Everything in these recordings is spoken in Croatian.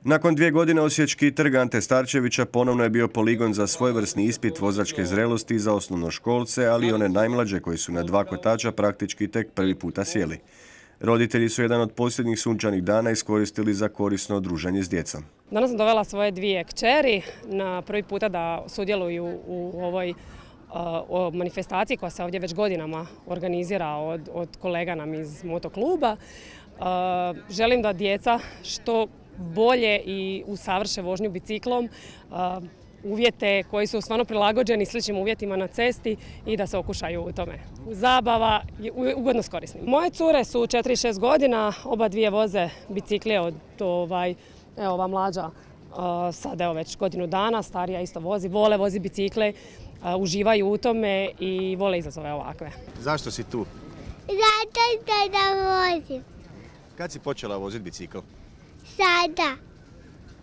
Nakon 2 godine Osječki trg Ante Starčevića ponovno je bio poligon za svojevrsni ispit vozačke zrelosti za osnovnoškolce, ali i one najmlađe koji su na 2 kotača praktički tek prvi puta sjeli. Roditelji su jedan od posljednjih sunčanih dana iskoristili za korisno druženje s djecom. Danas sam dovela svoje 2 kćeri na prvi puta da sudjeluju u ovoj manifestaciji koja se ovdje već godinama organizira od kolega nam iz motokluba. Želim da djeca što bolje i usavrše vožnju biciklom, uvjete koji su stvarno prilagođeni sličnim uvjetima na cesti i da se okušaju u tome. Zabava je ugodno s korisnim. Moje cure su 4 i 6 godina, oba dvije voze bicikle evo ova mlađa sad evo već godinu dana, starija isto vozi bicikle, uživaju u tome i vole izazove ovakve. Zašto si tu? Zato da vozim. Kad si počela voziti bicikl? Sada.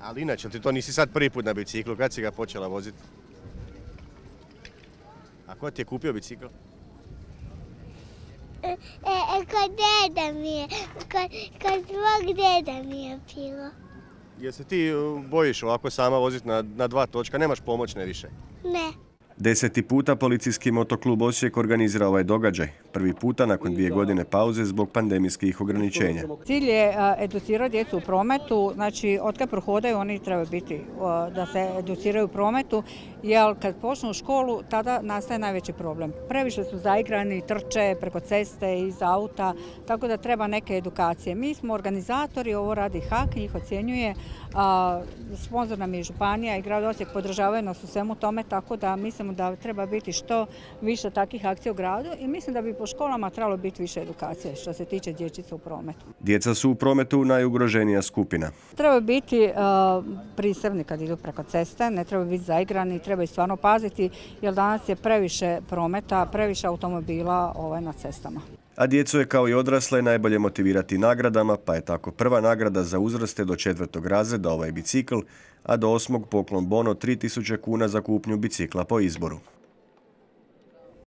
Ali inače, ti to nisi sad prvi put na biciklu, kad si ga počela voziti? A ko ti je kupio bicikl? Kod deda mi je, kod svog deda mi je bilo. Jel se ti bojiš ovako sama voziti na 2 točka, nemaš pomoćne više? Ne. 10. puta policijski motoklub Osijek organizira ovaj događaj. Prvi puta nakon 2 godine pauze zbog pandemijskih ograničenja. Cilj je educirati djecu u prometu, znači od kad prohodaju oni trebaju biti da se educiraju u prometu, jer kad počnu u školu tada nastaje najveći problem. Previše su zaigrani, trče preko ceste, iz auta, tako da treba neke edukacije. Mi smo organizatori, ovo radi HAK, njih ocjenjuje, sponzor nam je županija i grad Osijek, podržavaju nas u svemu tome, tako da mislimo da treba biti što više takvih akcija u gradu i mislim da bi po školama trebalo biti više edukacije što se tiče dječica u prometu. Djeca su u prometu najugroženija skupina. Treba biti prisebni kad idu preko ceste, ne treba biti zaigrani, treba i stvarno paziti jer danas je previše prometa, previše automobila na cestama. A djecu je kao i odrasle najbolje motivirati nagradama, pa je tako prva nagrada za uzraste do 4. razreda ovaj bicikl, a do 8. poklon bon od 3000 kuna za kupnju bicikla po izboru.